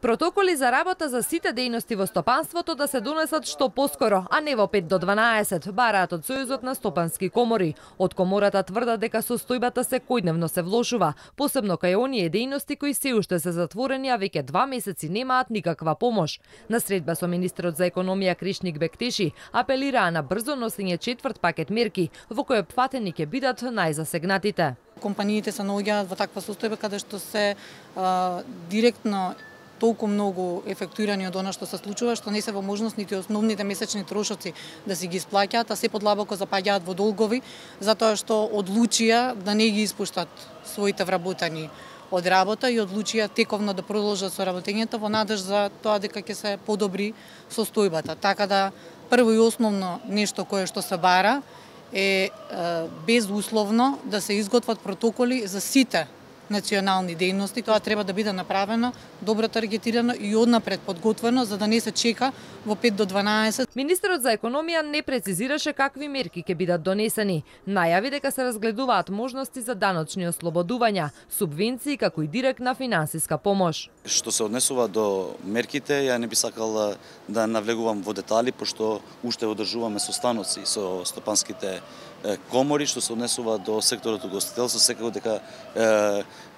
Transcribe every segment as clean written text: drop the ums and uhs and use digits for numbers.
Протоколи за работа за сите дејности во стопанството да се донесат што поскоро, а не во 5 до 12, бараат од Сојузот на стопански комори. Од комората тврдат дека состојбата секојдневно се влошува, посебно кај оние дејности кои се уште се затворени, а веќе 2 месеци немаат никаква помош. На средба со министерот за економија Кришник Бектеши апелираа на брзо носење четврт пакет мерки, во кој опфатени ќе бидат најзасегнатите. Компаниите се наоѓаат во таква состојба каде што се директно толку многу ефектуирани од она што се случува, што не се во можност нити основните месечни трошоци да си ги исплаќаат, а се подлабоко запаѓаат во долгови, затоа што одлучија да не ги испуштат своите вработени од работа и одлучија тековно да продолжат со работењето во надеж за тоа дека ќе се подобри состојбата. Така да прво и основно нешто кое што се бара е безусловно да се изготват протоколи за сите национални дејности. Тоа треба да биде направено, добро таргетирано и однапред подготвено, за да не се чека во 5 до 12. Министерот за економија не прецизираше какви мерки ќе бидат донесени. Најави дека се разгледуваат можности за даночни ослободувања, субвенции како и директна финансиска помош. Што се однесува до мерките, ја не би сакал да навлегувам во детали, пошто уште одржуваме состаноци со стопанските комори, што се однесува до секторот угостителство, секако дека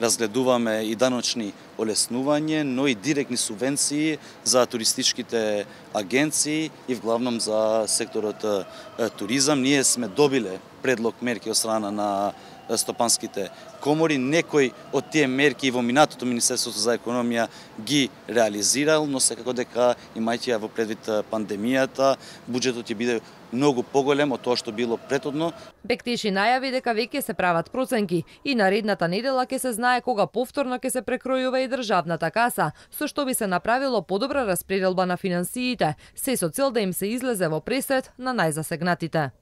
разгледуваме и даночни олеснување, но и директни субвенции за туристичките агенции и вглавном за секторот туризам. Ние сме добиле предлог мерки од страна на стопанските комори. Некои од тие мерки во минатото Министерството за економија ги реализирал, но секако дека имајќи во предвид пандемијата, буџетот ќе биде многу поголем од тоа што било претhodно. Бектеши најави дека веќе се прават проценки и наредната недела ќе се знае кога повторно ќе се прекројува и државната каса, со што би се направило подобра распределба на финансиите, се со цел да им се излезе во пресред на најзасегнатите.